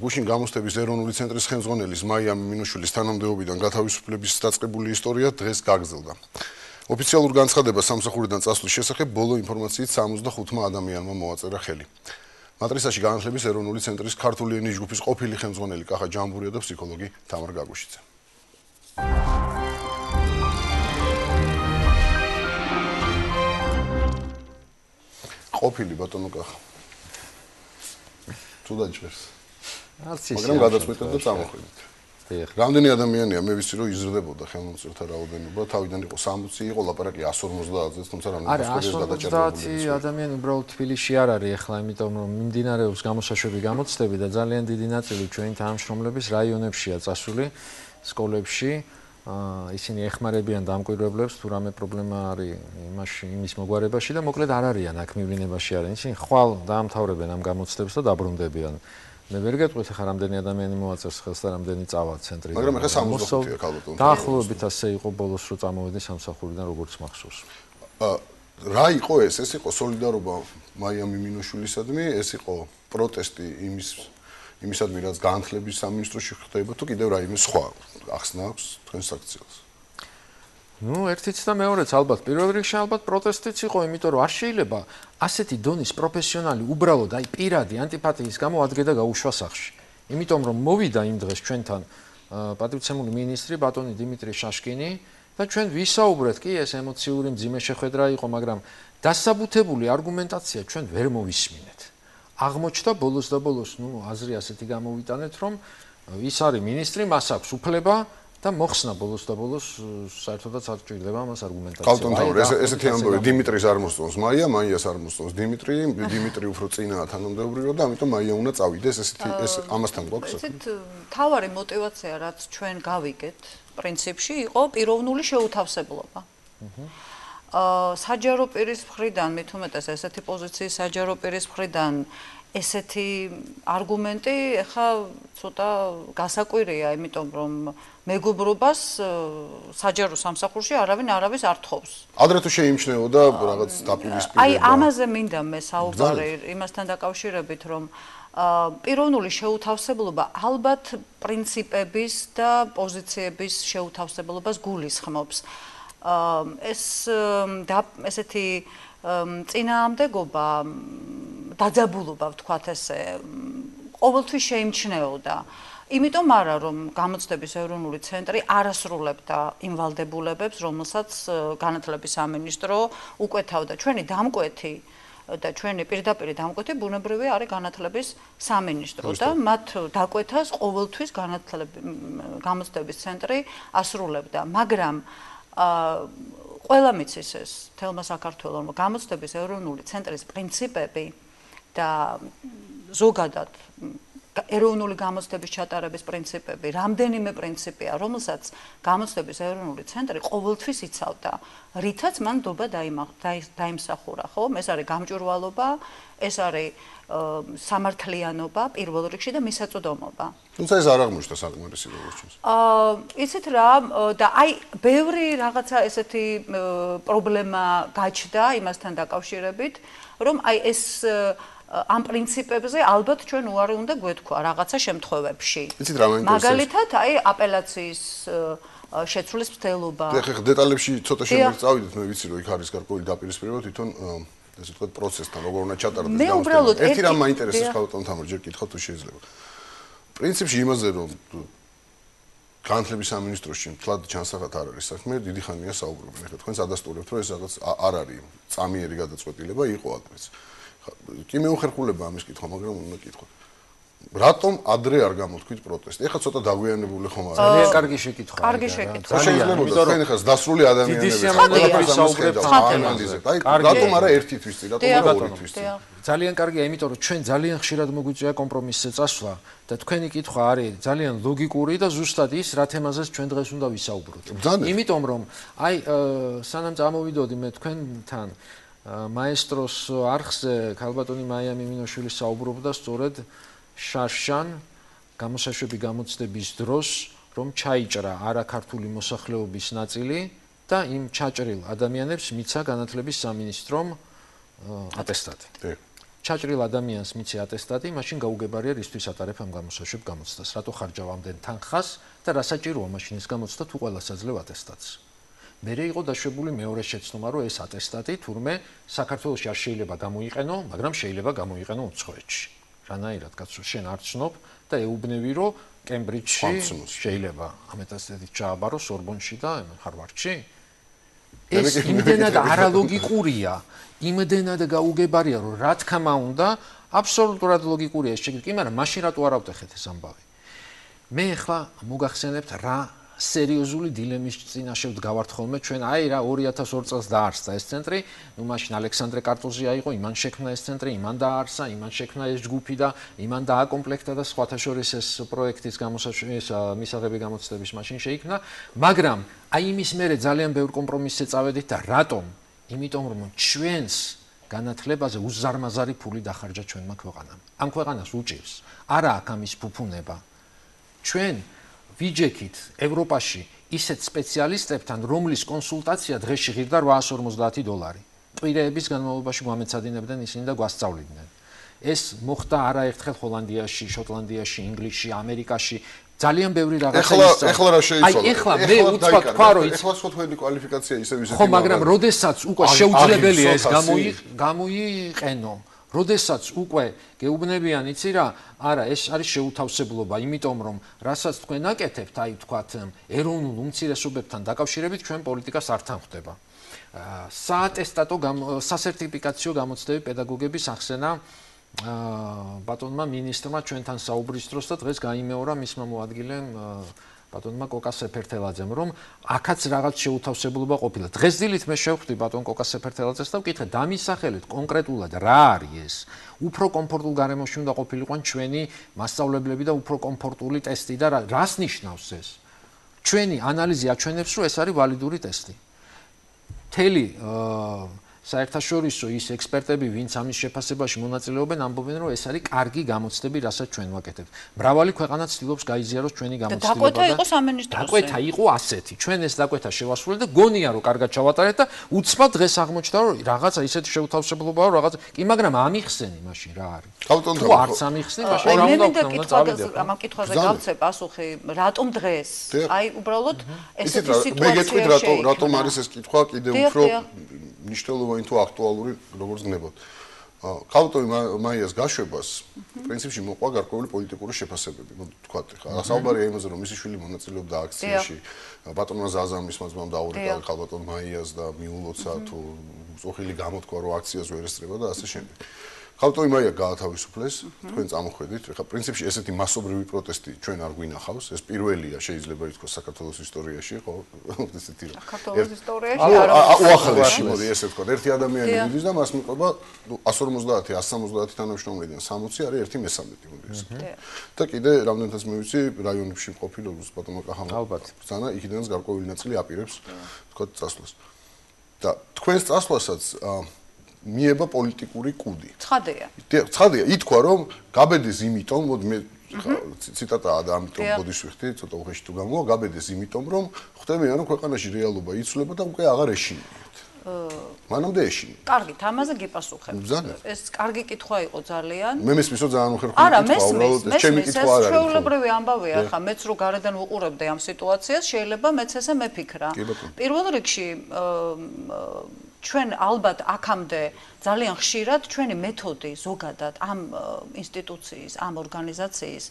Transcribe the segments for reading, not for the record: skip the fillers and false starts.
გუშინ გამოცდების ეროვნული ცენტრის ხელმძღვანელის მაია მინოშვილის თანამდებობიდან გათავისუფლების დაწყებული ისტორია დღეს გაგრძელდა. ოფიციალურ განცხადებას სამსახურიდან წასვლის შესახებ ბოლო ინფორმაციით 65 ადამიანმა მოაწერა ხელი. მატრიცაში განათლების ეროვნული ცენტრის ქართული ენის ჯგუფის ყოფილი ხელმძღვანელი კახა ჯამბურია და ფსიქოლოგი თამარ გაგუშიძე. ყოფილი ბატონო კახა. თუ დაჭერს. მაგრამ გადაწყვეტეთ და წამოხვიდეთ. რამდენი ადამიანია მე ვიცი რომ იზრდებოდა ხელმომწერთა რაოდენობა თავიდან იყო 60 იყო ლაპარაკი 150-ზე თუმცა რამდენი სკოლის გადაჭერებული ადამიანი უბრალოდ თბილისში არ არის ახლა იმიტომ რომ მიმდინარეობს გამოსაშვები გამოცდები და ძალიან დიდი ნაწილი ჩვენი თანამშრომლების რაიონებშია წასული სკოლებში ისინი ეხმარებიან დამკვირვებლებს თუ რამე პრობლემა არის იმის მოგვარებაში და მოკლედ არ არიან აქ მივლინებაში არიან ისინი ხვალ დაამთავრებენ ამ გამოცდებს და დაბრუნდებიან მე ვერ გეტყვით ახლა რამდენი ადამიანი მოაწერს ხელს და რამდენი წავა ცენტრიდან. მაგრამ ახლა 65-ია ქალბატონო. დაახლოებით ასე იყო ბოლოს რო წამოვედი სამსახურიდან როგორც მახსოვს. რა იყო ეს? ეს იყო სოლიდარობა მაია მინოშვილისადმი, ეს იყო პროტესტი იმისადმი რაც განათლების სამინისტროში ხდება თუ კიდევ რაიმე სხვა ახსნა აქვს თქვენს აქციას? ნუ ერთიც და მეორეც ალბათ პირველ რიგში ალბათ პროტესტიც იყო, იმიტომ რომ არ შეიძლება ასეთი დონის პროფესიონალი უბრალოდ აი პირადი ანტიპათიის გამო ადგე და გაუშვა სახში. იმიტომ რომ მოვიდა იმ დღეს ჩვენთან პატრიცემული მინისტრი ბატონი დიმიტრი შაშკინი და ჩვენ ვისაუბრეთ კი ეს ემოციური მძიმე შეხვედრა იყო, მაგრამ დასაბუთებული არგუმენტაცია ჩვენ ვერ მოვისმინეთ. აღმოჩნდა ბოლოს და ბოლოს ნუ აზრი ასეთი გამოვიტანეთ რომ ის არის მინისტრი, მას აქვს უფლება და მოხსნა ბოლოს და ბოლოს საერთოდაც არ ჭირდება მას არგუმენტაცია. კალტონთავრი ესეთი ამბავი დიმიტრის არ მოსწონს მაიას არ მოსწონს დიმიტრი უფრო წინაა თანამდებობრივად და ამიტომ მაია უნდა წავიდეს ესეთი ეს ამასთან გვაქვს საქმე. ესეთ თავარი мотиваცია რაც ჩვენ გავიგეთ პრინციპში იყო პიროვნული შეუთავსებლობა. საჯარო პირის მხრიდან მით უმეტეს ესეთი პოზიციის საჯარო პირის მხრიდან ესეთი არგუმენტი ეხა ცოტა გასაკვირია, იმიტომ რომ მეგობრობას საჯარო სამსახურში არავინ არავის არ თხოვს. ადრე თუ შეიმჩნეოდა რაღაც დაპირისპირება. აი ამაზე მინდა მე საუბარი იმასთან დაკავშირებით, რომ პიროვნული შეუთავსებლობა ალბათ პრინციპების და პოზიციების შეუთავსებლობას გულისხმობს. ესეთი წინააღმდეგობა დაძაბულობა ვთქვათ ესე ყოველთვის შეიმჩნეოდა. იმიტომ არა რომ გამოცდების ეროვნული ცენტრი არასრულებდა იმ ვალდებულებებს, რომელსაც განათლების სამინისტრო უკვეთავდა. ჩვენი დამკვეთი და ჩვენი პირდაპირი დამკვეთი ბუნებრივი არის განათლების სამინისტრო და მათ დაკვეთას ყოველთვის გამოცდების ცენტრი ასრულებდა, მაგრამ ყველა მიცის ეს თელმა საქართველოს გამოცდების ეროვნული ცენტრის პრინციპები და ზოგადად ეროვნული გამოცდების ჩატარების პრინციპები, რამდენიმე პრინციპია, რომელსაც გამოცდების ეროვნული ცენტრი ყოველთვის იცავდა, რითაც მან ნდობა დაიმსახურა, ხო? ეს არის გამჭვირვალობა, ეს არის სამართლიანობა პირველ რიგში და მისაწვდომობა. თუმცა ეს არ აღმოჩნდა საკმარისი როგორც ჩვენს. იცით რა და აი ბევრი რაღაცა ესეთი პრობლემა გაჩნდა იმასთან დაკავშირებით, რომ აი ეს ამ პრინციპებზე ალბათ ჩვენ უარი უნდა გვეთქვა რაღაცა შემთხვევებში. იცით რა მაინტერესებს? მაგალითად, აი აპელაციის შეცვლის მცდელობა. ეხლა დეტალებში ცოტა შემოვწავიდეთ, მე ვიცი რომ იქ არის გარკვეული დაპირისპირება თვითონ ესე ვთქვათ პროცესთან, როგორ უნდა ჩატარდეს გამოცდები. ერთი რამ მაინტერესებს ხალხთან თამარ ჯერ კითხავ თუ შეიძლება. პრინციპში იმაზე რომ განათლების სამინისტროში მთლად ჩანსახად არ არის საქმე, დიდი ხანია საუბრობენ. ეხლა თქვენს ადასტურებთ რომ ეს რაღაც არ არის წამიერი გადაწყვეტილება იყო ადრეც. კი მეუხერხულება ამის კითხვა, მაგრამ უნდა კითხო. რატომ ადრე არ გამოთქვით პროტესტი? ეხლა ცოტა დაგვიანებული ხომ არის. ძალიან კარგი შეკითხვა. კარგი შეკითხვა. შეიძლება თქვენ ეხლა დასრული ადამიანები საუბრობთ. აი რატომ არა ერთისთვის წინ, რატომ არა ორისთვის წინ? ძალიან კარგია, იმიტომ რომ ჩვენ ძალიან ხშირად მოგვიწია კომპრომისზე წასვლა და თქვენი კითხვა არის ძალიან ლოგიკური და ზუსტად ის რა თემაზეც ჩვენ დღეს უნდა ვისაუბროთ. იმიტომ რომ აი სანამ წამოვიდოდი მე თქვენთან მაესტროს არხზე ქალბატონი მაია მინოშვილი საუბრობდა სწორედ შარშან გამოსაშვები გამოცდების დროს რომ ჩაიჭრა არაქართული მოსახლეობის ნაწილი და იმ ჩაჭრილ ადამიანებს მიცა განათლების სამინისტრომ ატესტატი. ჩაჭრილ ადამიანს მიცე ატესტატი, მაშინ გაუგებარია რისთვის ატარებ ამ გამოსაშვებ გამოცდას, რატო ხარჯავ ამდენ თანხას და რა საჭიროა მაშინ ეს გამოცდა თუ ყველას აძლევ ატესტატს. მერე იყო დაშვებული მეორე შეცდომა, რომ ეს ატესტატი თურმე საქართველოში არ შეიძლება გამოიყენო, მაგრამ შეიძლება გამოიყენო უცხოეთში. რანაირად კაცო, შენ არ ცნობ და ეუბნები, რომ კემბრიჯში შეიძლება ამ ატესტატით ჩააბარო სორბონში და ჰარვარდში. ეს იმდენად არალოგიკურია, იმდენად გაუგებარია, რომ რა თქმა უნდა, აბსოლუტურად ლოგიკურია ეს შეკითხვა, მაგრამ მაშინ რატო არ ავტეხეთ ეს ამბავი? მე ახლა მოგახსენებთ რა სერიოზული დილემის წინაშე ვდგავართ ხოლმე ჩვენ აი რა 2002 წელს დაარსდა ეს ცენტრი, ნუ მაშინ ალექსანდრე კარტოზი აიღო, იმან შექმნა ეს ცენტრი, იმან დაარსა, იმან შექმნა ეს ჯგუფი და იმან დააკომპლექტა და სხვათა შორის ეს პროექტის მისაღები გამოცდების მაშინ შეიქმნა, მაგრამ აი იმის მერე ძალიან ბევრ კომპრომისზე წავედით და რატომ? იმიტომ რომ ჩვენს განათლებაზე უზარმაზარი ფული დახარჯა ჩვენმა ქვეყანამ. ამ ქვეყანას უჭირს. არა აქ ამის ფუფუნება. ჩვენ ვიჯექით ევროპაში ისეთ სპეციალისტებთან, რომლის კონსულტაცია დღეში ღირდა $850. კვირეების განმავლობაში გვამეცადინებდნენ ისინი და გვასწავლიდნენ. ეს მოხდა არაერთხელ ჰოლანდიაში, შოტლანდიაში, ინგლისში, ამერიკაში. ძალიან ბევრი რაღაცა ისწავლა. ეხლა რა შეიცვალა? აი ეხლა მე უცბად თქვა რომ ეხლა სხვა თქვენი კვალიფიკაცია ისევ ხო, მაგრამ როდესაც უკვე შეუძლებელია ეს გამოიყენო, როდესაც უკვე გეუბნებიან, იცი რა, არა, ეს არის შეუთავსებლობა, იმიტომ რომ რასაც თქვენ აკეთებთ, აი თქვათ ეროვნულ უმცირესობებთან დაკავშირებით ჩვენ პოლიტიკას არ თანხდება. საატესტატო სასერტიფიკაციო გამოცდები პედაგოგების ახსენა ბატონმა მინისტრმა ჩვენთან საუბრის დროს და დღეს გაიმეორა მისმა მოადგილემ ბატონმა კოკა სეფერთელაძემ, რომ აქაც რაღაც შეუთავსებლობა ყოფილა. დღეს დილით მე შევხვდი ბატონ კოკა სეფერთელაძეს და ვკითხე, დამისახელეთ კონკრეტულად რა არის ეს? უფრო კომფორტულ გარემოში უნდა ყოფილიყო ჩვენი მასწავლებლები და უფრო კომფორტული ტესტი და რას ნიშნავს ეს? ჩვენი ანალიზი აჩვენებს, რომ ეს არის ვალიდური ტესტი. მთელი საერთაშორისო ის ექსპერტები, ვინც ამის შეფასებაში მონაწილეობენ, ამბობენ, რომ ეს არის კარგი გამოცდები, რასაც ჩვენ ვაკეთებთ. მრავალი ქვეყანა ცდილობს გაიზიაროს ჩვენი გამოცდილება და დაკვეთა იყო სამინისტროსი. დაკვეთა იყო ასეთი. ჩვენ ეს დაკვეთა შევასრულეთ და გონია, რომ კარგად ჩავატარეთ და უცბად დღეს აღმოჩნდა, რომ რაღაცა ისეთი შეუთავსებლობაა, რომ რაღაც კი, მაგრამ ამიხსენი მაშინ რა არის? თუ არც ამიხსენი, მაშინ რა უნდა ვქნა? ამ კითხვაზე გავცე პასუხი, რატომ დღეს? აი უბრალოდ ესეთი სიტუაცია მე გეტყვით რატომ არის ეს კითხვა კიდევ უფრო მნიშვნელოვანი თუ აქტუალური როგორც გნებოთ. ქალბატონი მაიას გაშვებას პრინციპში მოყვა გარკვეული პოლიტიკური შეფასებები. თქვათ ხა საუბარია იმაზე, რომ მისი შვილი მონაწილეობდა აქციაში, ბატონმა ზაზამის მასმამ დაურეკა ქალბატონ მაიას და მიულოცა თუ წოხილი გამოთქვა, რომ აქციას ვერ ესწრება და ასე შემდეგ. ქალბატონი მაია გაათავისუფლეს, თქვენ წამოხვედით. ხა პრინციპში ესეთი მასობრივი პროტესტი ჩვენ არ გვინახავს. ეს პირველია შეიძლება ითქვას საქართველოს ისტორიაში, ხო? ესეთი რა. საქართველოს ისტორიაში არა. უახლესი, მოდი ესე ვთქვა. ერთი ადამიანი მიდის და მას მიყვება 150, 170 თანამშრომლიდან 60 არის 1/13, მოდი ესე ვთქვა. და კიდე რამდენადაც მე ვიცი, რაიონებში მყოფი როგორც ბატონმა კახამა. ალბათ. ზანა იქიდანაც გარკვეული ნაწილი აპირებს, ვთქვა, წასვლას. და თქვენს წასვლასაც მიება პოლიტიკური კუდი. ცხადია. ცხადია, ითქვა რომ გაბედეს იმიტომ, მოდი მე ციტატაა და ამიტომ ბოდიშ ვიხდი, ცოტა უხეში თუ გამოვა, გაბედეს იმიტომ რომ ხვდებიან რომ ქვეყანაში რეალობა იცვლება და უკვე აღარ ეშინიათ. მანამდე ეშინიათ. კარგით, ამაზე გიპასუხებ. ეს კარგი კითხვა იყო ძალიან. მე მესმის რომ ძალიან უხერხული კითხვა, უბრალოდ ჩემი კითხვა არ არის. ჩვეულებრივი ამბავია, ხა მეც რო გარედან ვუყურებდი ამ სიტუაციას, შეიძლება მეც ესე მეფიქრა. პირველ რიგში ჩვენ ალბათ აქამდე ძალიან ხშირად ჩვენი მეთოდი ზოგადად ამ ინსტიტუციის, ამ ორგანიზაციის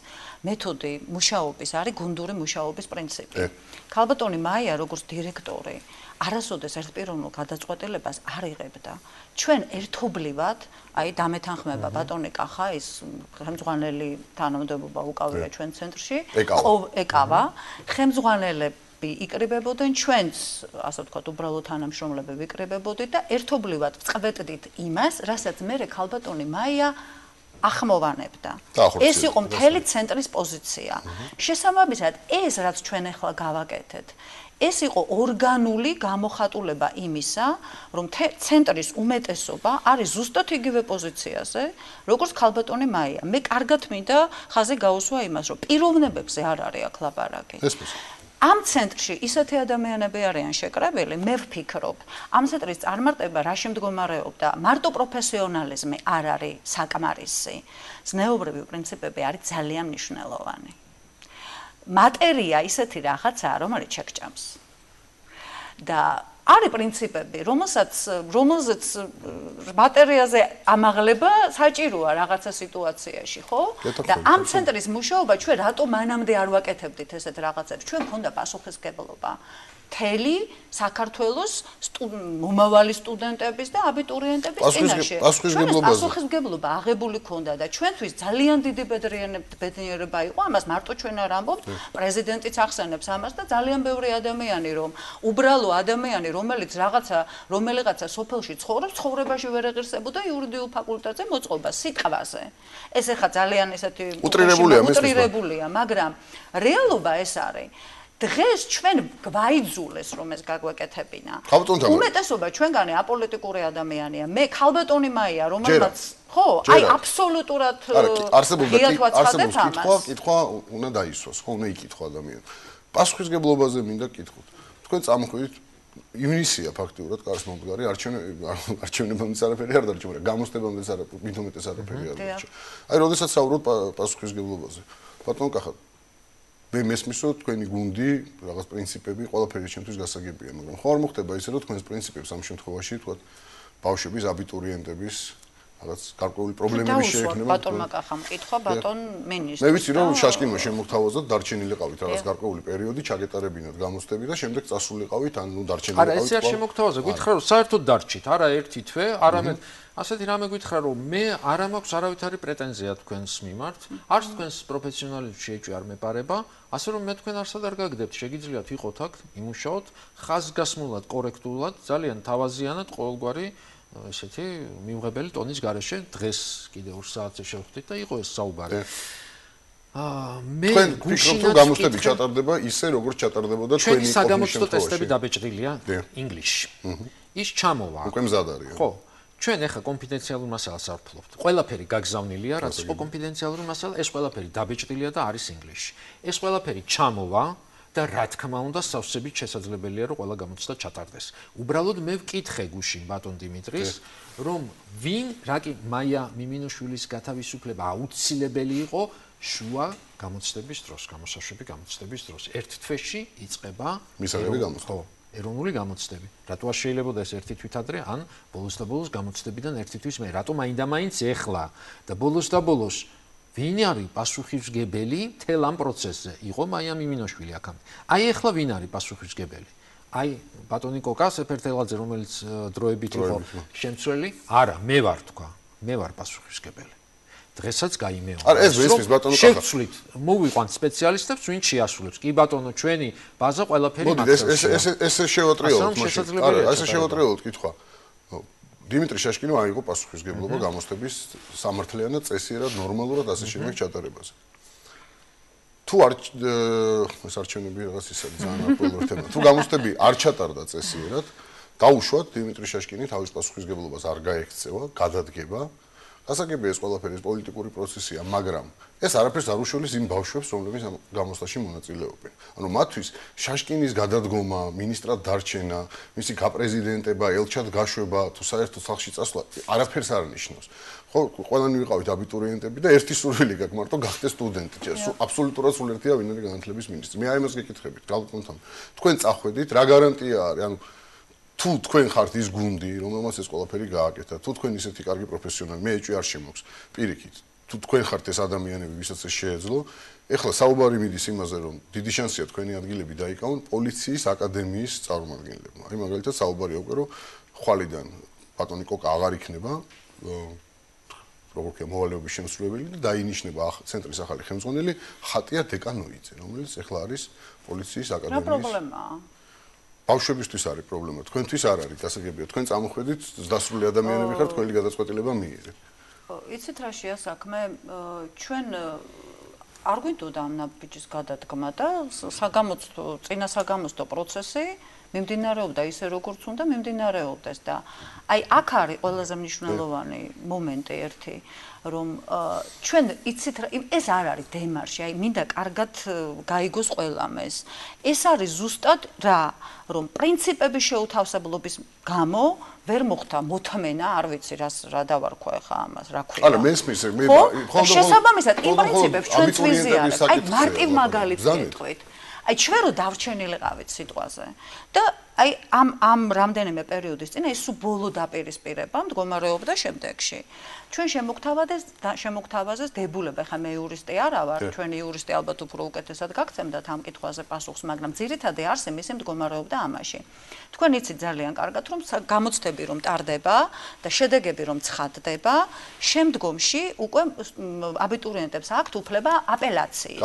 მეთოდი მუშაობის არის გუნდური მუშაობის პრინციპი. ქალბატონი მაია როგორც დირექტორი არასოდეს ერთპიროვნულ გადაწყვეტილებას არ იღებდა. ჩვენ ერთობლივად, აი დამეთანხმება ბატონი კახა, ის ხელმძღვანელი თანამდებობა უკავია ჩვენ ცენტრში, ეკავა, ხელმძღვანელები იკრიბებოდნენ ჩვენც, ასე ვთქვათ, უბრალოდ თანამშრომლები ვიკრიბებოდით და ერთობლივად ვწყვეტდით იმას, რასაც მე ქალბატონი მაია ახმოვანებდა. ეს იყო მთელი ცენტრის პოზიცია. შესაბამისად, ეს რაც ჩვენ ახლა გავაკეთეთ, ეს იყო ორგანული გამოხატულება იმისა, რომ ცენტრის უმეტესობა არის ზუსტად იგივე პოზიციაზე, როგორც ქალბატონი მაია. მე კარგად მინდა ხაზი გაუსვა იმას, რომ პიროვნებებზე არ არის აქ ლაპარაკი. ამ ცენტრში ისეთი ადამიანები არიან შეკრებილი, მე ვფიქრობ, ამ ცენტრის წარმართება რა შემდგომარეობდა, მარტო პროფესიონალიზმი არ არის საკმარისი. ზნეობრივი პრინციპები არის ძალიან მნიშვნელოვანი. მატერია ისეთი რაღაცაა, რომელიც შეგჭამს. და არის პრინციპები, რომელზეც მატერიაზე ამაღლება საჭიროა რაღაცა სიტუაციაში, ხო? და ამ ცენტრის მუშაობა ჩვენ რატო მანამდე არ ვაკეთებდით ესეთ რაღაცებს? ჩვენ მქონდა პასუხისმგებლობა მთელი საქართველოს მომავალი სტუდენტების და აბიტურიენტების წინაშე. პასუხისმგებლობა აღებული ქონდა და ჩვენთვის ძალიან დიდი ბედნიერება იყო, ამას მარტო ჩვენ არ ამბობთ, პრეზიდენტიც ახსენებს ამას და ძალიან ბევრი ადამიანი, რომ უბრალო ადამიანი, რომელიღაცა სოფელში ცხოვრობს, ცხოვრებაში ვერ ეღირსებოდა იურიდიულ ფაკულტეტზე მოწყობა სიტყვაზე. ეს ახლა ძალიან ესეთი უტრირებულია, მაგრამ რეალობა ეს არის. დღეს ჩვენ გვაიძულეს რომ ეს გაგვეკეთებინა. უმეტესობა ჩვენგანი აპოლიტიკური ადამიანია. მე ქალბატონი მაია, რომელმაც ხო, აი აბსოლუტურად კითხვა უნდა დაისვას, ხო, უნდა იკითხო ადამიანი. პასუხისმგებლობაზე მინდა კითხოთ. თქვენ წამოხვიდით ივნისია ფაქტიურად კარს მომდგარი არჩევნებამდე არაფერი არ დარჩა, გამოსდებამდე არაფერი, მით უმეტეს არაფერი არ დარჩა. აი, როდესაც საუბრობ პასუხისმგებლობაზე. ბატონ კახა, მე მესმის რომ თქვენი გუნდი, რაღაც პრინციპები, ყველაფერი ჩემთვის გასაგებია, მაგრამ ხო არ მოხდება ისე რომ თქვენს პრინციპებს ამ შემთხვევაში, თქვა ბავშვების, აბიტურიენტების რაღაც გარკვეული პრობლემები შეექმნება. ბატონმა კახამ კითხვა, ბატონ მინისტრი. მე ვიცი რომ შაშკინმა შემოგთავაზოთ, დარჩენილიყავით რაღაც გარკვეული პერიოდი, ჩაგეტარებინათ გამოცდები და შემდეგ წასულიყავით, ან ნუ დარჩენილიყავით. არა, ესე არ შემოგთავაზა, გითხრა რომ საერთოდ დარჩით, არა ერთი თვე, არამედ ასეთი რამე გითხრა რომ მე არ მაქვს არავითარი პრეტენზია თქვენს მიმართ, არც თქვენს პროფესიონალიზმში ეჭვი არ მეპარება, ასე რომ მე თქვენ არსად არ გაგდებთ, შეგიძლიათ ვიყოთ აქ, იმუშაოთ ხაზგასმულად, კორექტულად, ძალიან თავაზიანად ყოველგვარი ესეთი მიუღებელი ტონის გარეშე დღეს კიდე 2 საათზე შევხვდით და იყო ეს საუბარი. მე გუშინაც გამოსტები ჩატარდება ისე როგორც ჩატარდებოდა ჩვენი საგამოცდო ტესტები დაბეჭდილია ინგლისში. ის ჩამოვა. უკვე მზად არის. ხო. ჩვენ ახლა კონფიდენციალურ მასალას არ ვფლობთ. ყველაფერი გაგზავნილია, რაც იყო კონფიდენციალური მასალა, ეს ყველაფერი დაბეჭდილია და არის ინგლისში. ეს ყველაფერი ჩამოვა და რა თქმა უნდა სავსებით შესაძლებელია რომ ყველა გამოცდა ჩატარდეს. უბრალოდ მე ვკითხე გუშინ ბატონ დიმიტრის რომ ვინ რაკი მაია მიმინოშვილის გათავისუფლება აუცილებელი იყო შუა გამოცდების დროს, გამოსაშვები გამოცდების დროს. ერთ თვეში იწყება მისაღები გამოცდა. ეროვნული გამოცდები. რატო არ შეიძლება ეს ერთი თვით ადრე, ან ბოლოს და ბოლოს გამოცდებიდან ერთი თვის მე, რატო მაინდა-მაინც ეხლა და ბოლოს და ბოლოს ვინ არის პასუხისმგებელი მთელ ამ პროცესზე? იყო მაია მიმინოშვილი აქამდე. აი ეხლა ვინ არის პასუხისმგებელი? აი ბატონი კოკა სეფერთელაძე, რომელიც დროებით იყო შემცვლელი? არა, მე ვარ თქვა. მე ვარ პასუხისმგებელი. დღესაც გაიმეორე. არა, ეს ვისმის ბატონო კახა. შევცვლით, მოვიყვანთ სპეციალისტებს, ვინ შეასრულებს. კი ბატონო, ჩვენი ბაზა ყველაფერი მართავს. მოდი, ეს შევატრიალოთ მაშინ. არა, ესე შევატრიალოთ კითხვა. დიმიტრი შაშკინო აიღო პასუხისმგებლობა გამოცდების სამართლიანად, წესიერად, ნორმალურად ასე შემდეგ ჩატარებაზე. თუ არ ეს არჩევნები რაღაც ისე ძალიან აქტუალური თემა. თუ გამოცდები არ ჩატარდა წესიერად, დაუშვათ დიმიტრი შაშკინი თავის პასუხისმგებლობას არ გაექცევა, გადადგება. გასაგებია ეს ყველაფერი პოლიტიკური პროცესია, მაგრამ ეს არაფერს არ უშველის იმ ბავშვებს, რომლებიც ამ გამოცდაში მონაწილეობენ. ანუ მათთვის შაშკინის გადადგომა, ministrად დარჩენა, მისი გაპრეზიდენტება, ელჩად გაშვება, თუ საერთოდ სახში წასვლა, არაფერს არ ნიშნავს. ხო, ყველანი ვიყავით აბიტურიენტები და ერთი სურვილი გაქვს, მარტო გახდეს სტუდენტი. აბსოლუტურად სულ ერთია ვინ არის განათლების მინისტრი. მე აი ამას გეკითხებით, გალკონთან. თქვენ წახვედით, რა გარანტია არის? ანუ თუ თქვენ ხართ ის გუნდი, რომელმაც ეს ყველაფერი გააკეთა, თუ თქვენ ისეთი კარგი პროფესიონალი, მე ეჭვი არ შემოქვს. პირიქით, თუ თქვენ ხართ ეს ადამიანები, ვისაც ეს შეეძლო, ეხლა საუბარი მიდის იმაზე, რომ დიდი შანსია თქვენი ადგილები დაიკავონ პოლიციის აკადემიის წარმომადგენლებმა. აი მაგალითად საუბარი უკვე რომ ხვალიდან ბატონი კოკა აღარ იქნება როგორია მოვალეობის შემსრულებელი და დაინიშნება ცენტრის ახალი ხელმძღვანელი ხატია დეკანოიძე, რომელიც ეხლა არის პოლიციის აკადემიის. რა პრობლემაა? ბავშვებისთვის არის პრობლემა, თქვენთვის არ არის, გასაგებია, თქვენ წამოხვედით დასრული ადამიანები ხართ, თქვენი გადაწყვეტილება მიიღეთ. იცით რა შეა საქმე, ჩვენ არ გვინდოდა ამ ნაბიჯის გადადგმა და წინა საგამოცდო პროცესი მიმდინარეობდა ისე როგორც უნდა მიმდინარეობდეს და აი აქ არის ყველაზე მნიშვნელოვანი მომენტი ერთი რომ ჩვენ იცით ეს არ არის დემარში აი მინდა კარგად გაიგოს ყველამ ეს არის ზუსტად რა რომ პრინციპების შეუთავსებლობის გამო ვერ მოხდა მოთმენა არ ვიცი რა დავარქვა ახლა ამას რა ქვია არა მესმის მე შესაბამისად იმ პრინციპებს ჩვენ ვიზიარებთ აი მარტივ მაგალითს გეტყვით აი ჩვენ რო დავჩენილიყავით სიტყვაზე და აი ამ რამდენიმე პერიოდის წინ ეს ბოლო დაპირისპირება მდგომარეობდა შემდეგში ჩვენ შემოგთავაზეს დებულება ხა მე იურისტი არა ვარ ჩვენი იურისტი ალბათ უფრო უკეთესად გაგცემდათ ამ კითხვაზე პასუხს მაგრამ ძირითადი არსი მისი მდგომარეობდა ამაში თქვენ იცით ძალიან კარგად რომ გამოცდები რომ ტარდება და შედეგები რომ ცხადდება შემდგომში უკვე აბიტურიენტებს აქვთ უფლება აპელაციის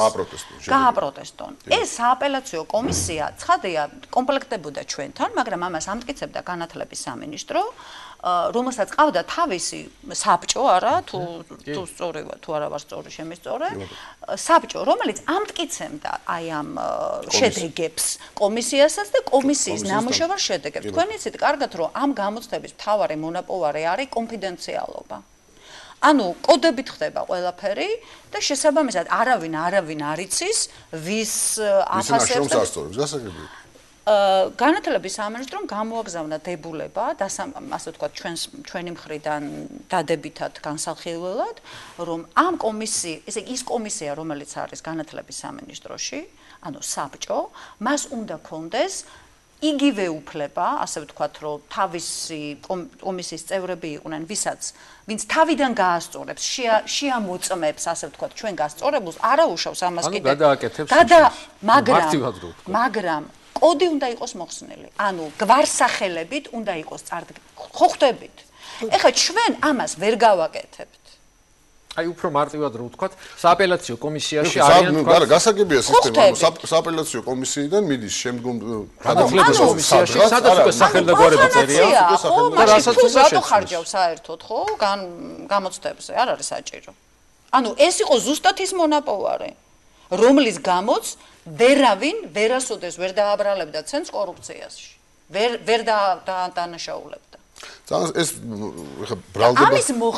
გააპროტესტონ ეს სააპელაციო კომისია ცხადია კომპლექტდებოდა ჩვენთან მაგრამ ამას ამტკიცებდა განათლების სამინისტრო რომელსაც ყავდა თავისი საბჭო არა თუ სწორია თუ არა ვარ სწორი შემისწორე საბჭო რომელიც ამტკიცებდა აი ამ შედეგებს კომისიასაც და კომისიის ნამუშევარ შედეგებს თქვენ იცით კარგად რომ ამ გამოცდების მთავარი მონაპოვარი არის კონფიდენციალობა ანუ კოდებით ხდება ყველაფერი და შესაბამისად არავინ არ იცის ვის აფასებს გასაგებია განათლების სამინისტრომ გამოაგზავნა დებულება ასე ვთქვათ ჩვენი მხრიდან დადებითად განსახილველად რომ ამ ის კომისია რომელიც არის განათლების სამინისტროში ანუ საბჭო მას უნდა კონდეს იგივე უფლება ასე ვთქვათ რომ თავისი კომისიის წევრები იყვნენ ვინც თავიდან გაასწორებს შეამოწმებს ასე ვთქვათ ჩვენ გასწორებულს არაუშავს ამას კიდე მაგრამ კოდი უნდა იყოს მოხსნილი. ანუ გვარსახელებით უნდა იყოს წარდგენილი. ხო ხვდებით? ეხლა ჩვენ ამას ვერ გავაკეთებთ. აი უფრო მარტივად რო ვთქვათ, სააპელაციო კომისიაში არიან თქვა. არა, გასაგებია სისტემა, სააპელაციო კომისიიდან მიდის შემდგომ განათლების კომისიაში, სადაც უკვე სახელმწიფოები წერია. და რასაც უნდა შეხარჯავს საერთოდ, ხო? გამოცდებზე არ არის საჭირო. ანუ ეს იყო ზუსტად ის მონაპოვარი, რომლის გამოც ვერასოდეს ვერ დააბრალებდა ცენს კორუფციაში. ვერ დაანაშაულებდა. ეს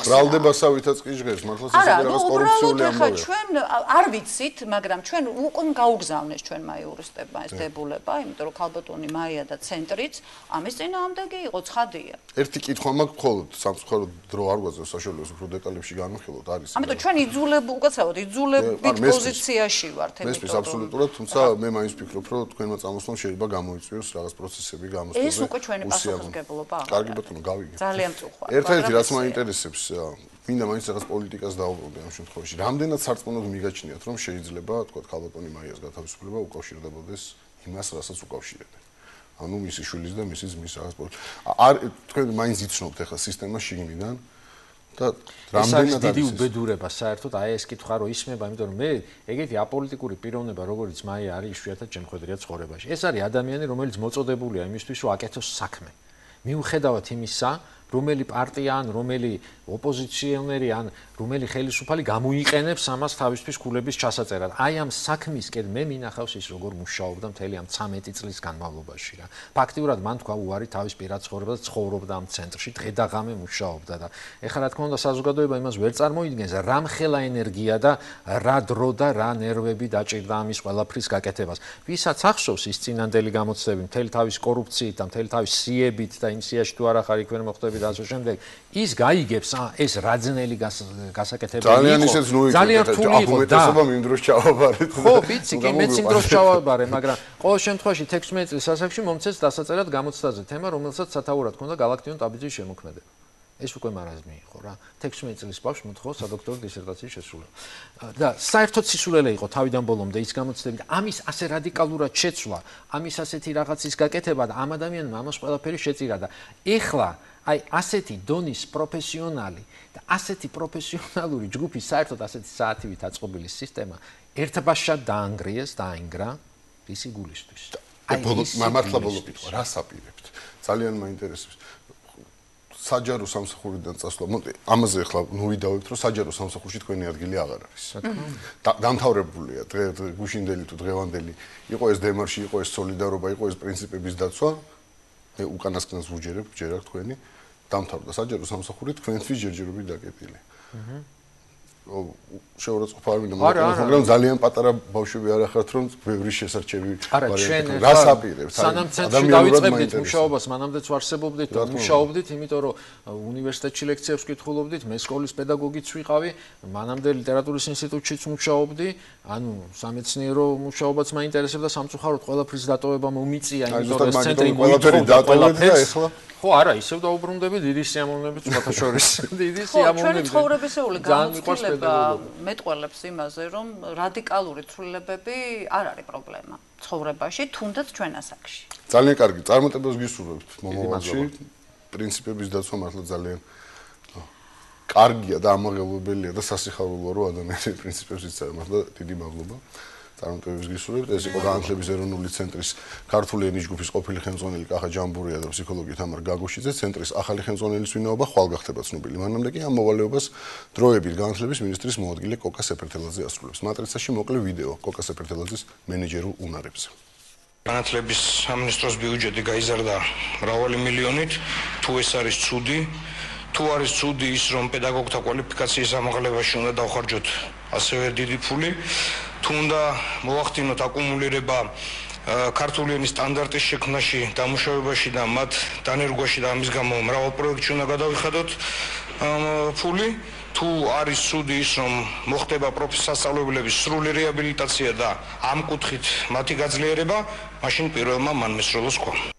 ბრალდებასავითაც კი ჟღერს, მართლაც ეს რაღაც კორუფციული ამბავია. ჩვენ არ ვიცით, მაგრამ ჩვენ უკვე გაუგზავნეს ჩვენმა იურისტებმა ეს დებულება, იმიტომ რომ ქალბატონი მაია და ცენტრიც ამის წინააღმდეგი იყო, ცხადია. ერთი კითხვა მაქვს მხოლოდ სამწუხაროდ დრო არ გვაძლევს საშუალებას უფრო დეტალებში განვიხილოთ არის. ამიტომ ჩვენ უკაცრავად იძულებით პოზიციაში ვართ, ამიტომ ეს აბსოლუტურად, თუმცა მე მაინც ვფიქრობ, რომ თქვენმა წამოსვლამ შეიძლება გამოიწვიოს რაღაც პროცესები გამოსწორდეს. ეს უკვე ჩვენი პასუხისმგებლობა. კარგი ბატონო, გავიგე. ძალიან მწუხარია. ერთ-ერთი რაც მაინტერესებს, მინდა მაინც რაღაც პოლიტიკას დაუბრუნდე ამ შემთხვევაში. რამდენად სარწმუნოდ მიგაჩნიათ, რომ შეიძლება, თქვა, ქალბატონი მაიას გათავისუფლება უკავშირდებოდეს იმას, რასაც უკავშირებენ. ანუ მისი შვილის და მისი ძმის რაღაც თქვენ მაინც იცნობთ ახლა სისტემა შიგნიდან და რამდენად დიდი უბედურება საერთოდ აი ეს კითხვა რო ისმება, იმიტომ რომ მე ეგეთი აპოლიტიკური პიროვნება, როგორც მაია არის იშვიათად შემხედრია ცხოვრებაში. ეს არის ადამიანი, რომელიც მოწოდებულია იმისთვის, რომ აკეთოს საქმე. მიუხედავად იმისა, რომელი პარტია ან რომელი ოპოზიციონერი ან რომელი ხელისუფალი გამოიყენებს ამას თავისთვის ქულების ჩასაწერად. აი ამ საქმისკენ მე მინახავს ის როგორ მუშაობდა მთელი ამ 13 წლის განმავლობაში რა. ფაქტიურად მან თქვა უარი თავის პირად ცხოვრება და ცხოვრობდა ამ ცენტრში, დღე და ღამე მუშაობდა და ეხლა რა თქმა უნდა საზოგადოება იმას ვერ წარმოიდგენს, რა მხელა ენერგია და რა დრო და რა ნერვები დაჭირდა ამის ყველაფრის გაკეთებას. ვისაც ახსოვს ის წინანდელი გამოცდები, მთელი თავის კორუფციით და მთელი თავის სიებით და იმ სიაში თუ არა ხარ იქ ვერ მოხვდები და ასე შემდეგ, ის გაიგებს ეს რაძნელი გასაკეთებელი იყო. ძალიან რთული იყო და იმ დროს ჩავაბარეთ. ხო, ვიცი, კი მეც იმ დროს ჩავაბარე, მაგრამ ყოველ შემთხვევაში 16 წლის ასაკში მომცეს დასაწერად გამოცდაზე თემა, რომელსაც სათაურად ჰქონდა გალაქტიონ ტაბიძის შემოქმედება. ეს უკვე მარაზმი იყო რა. 16 წლის ბავშვს მოთხოვა სადოქტორო დისერტაციის შესრულება. და საერთოდ სისულელე იყო თავიდან ბოლომდე ის გამოცდები და ამის ასე რადიკალურად შეცვლა, ამის ასეთი რაღაცის გაკეთება და ამ ადამიანმა ამას ყველაფერი შეწირა და ეხლა აი ასეთი დონის პროფესიონალი და ასეთი პროფესიონალური ჯგუფი საერთოდ ასეთი საათივით აწყობილი სისტემა ერთბაშად დაანგრიეს და აინგრა ისი გულისთვის. აი მართლა ბოლო კითხვა, რას აპირებთ? ძალიან მაინტერესებს. საჯარო სამსახურიდან წასვლა, მოდე, ამაზე ახლა ვიდავებთ, რომ საჯარო სამსახურში თქვენი ადგილი აღარ არის. დამთავრებულია გუშინდელი თუ დღევანდელი, იყო ეს დემარში, იყო ეს სოლიდარობა, იყო ეს პრინციპების დაცვა, უკანასკნელს ვუჯერებ, ჯერა თქვენი, დამთავრდა საჯარო სამსახური თქვენთვის ჯერჯერობით დაკეტილი. შეურაცხყოფა არ მინდა, მაგრამ ძალიან პატარა ბავშვები არ ახართ, რომ ბევრი შესარჩევი ვარიანტი. რას აპირებთ? სანამ ცენტრში დავიწყებდით მუშაობას, მანამდეც ვარსებობდით და მუშაობდით, იმიტომ რომ უნივერსიტეტში ლექციებს ვკითხულობდით, მე სკოლის პედაგოგიც ვიყავი, მანამდე ლიტერატურის ინსტიტუტშიც მუშაობდი, ანუ სამეცნიერო მუშაობაც მაინტერესებდა, სამწუხაროდ ყველაფრის დატოვება მომიწია, იმიტომ რომ ეს ცენტრი მოიწოვდა ყველაფერს. ხო, არა, ისევ დაუბრუნდები დიდი სიამოვნებით შეთაშორის. დიდი სიამოვნებით. ჩვენი ცხოვრებისეული განმარტება მეტყველებს იმაზე, რომ რადიკალური ცვლილებები არ არის პრობლემა ცხოვრებაში, თუნდაც ჩვენ ასაკში. ძალიან კარგი, წარმატებას გისურვებთ მომავალში. პრინციპების დაცვა მართლა ძალიან კარგია და ამაღელვებელია და სასიხარულოა, რომ ადამიანები პრინციპებს იცავენ. მართლა დიდი მადლობა. წარმატებებს გისურვებთ. ეს იყო განათლების ეროვნული ცენტრის ქართული ენის ჯგუფის ყოფილი ხელმძღვანელი კახა ჯამბურია და ფსიქოლოგი თამარ გაგოშიძე, ცენტრის ახალი ხელმძღვანელის ვინაობა ხვალ გახდება ცნობილი. მანამდე კი ამ მოვალეობას დროებით განათლების მინისტრის მოადგილე კოკა სეფერთელაძე ასრულებს. მატრიცაში მოკლე ვიდეო კოკა სეფერთელაძის მენეჯერულ უნარებზე. განათლების სამინისტროს ბიუჯეტი გაიზარდა მრავალი მილიონით, თუ ეს არის ცუდი, თუ არის ცუდი ის, რომ პედაგოგთა კვალიფიკაციის ამაღლებაში უნდა დავხარჯოთ ასევე დიდი ფული, თუ უნდა მოვახდინოთ აკუმულირება ქართული ენის სტანდარტის შექმნაში, დამუშავებაში და მათ დანერგვაში და ამის გამო მრავალ პროექტში უნდა გადავიხადოთ ფული, თუ არის ცუდი ის, რომ მოხდება სასწავლებლების სრული რეაბილიტაცია და ამ კუთხით მათი გაძლიერება, მაშინ პირველმა მან მესროლოს თქვა.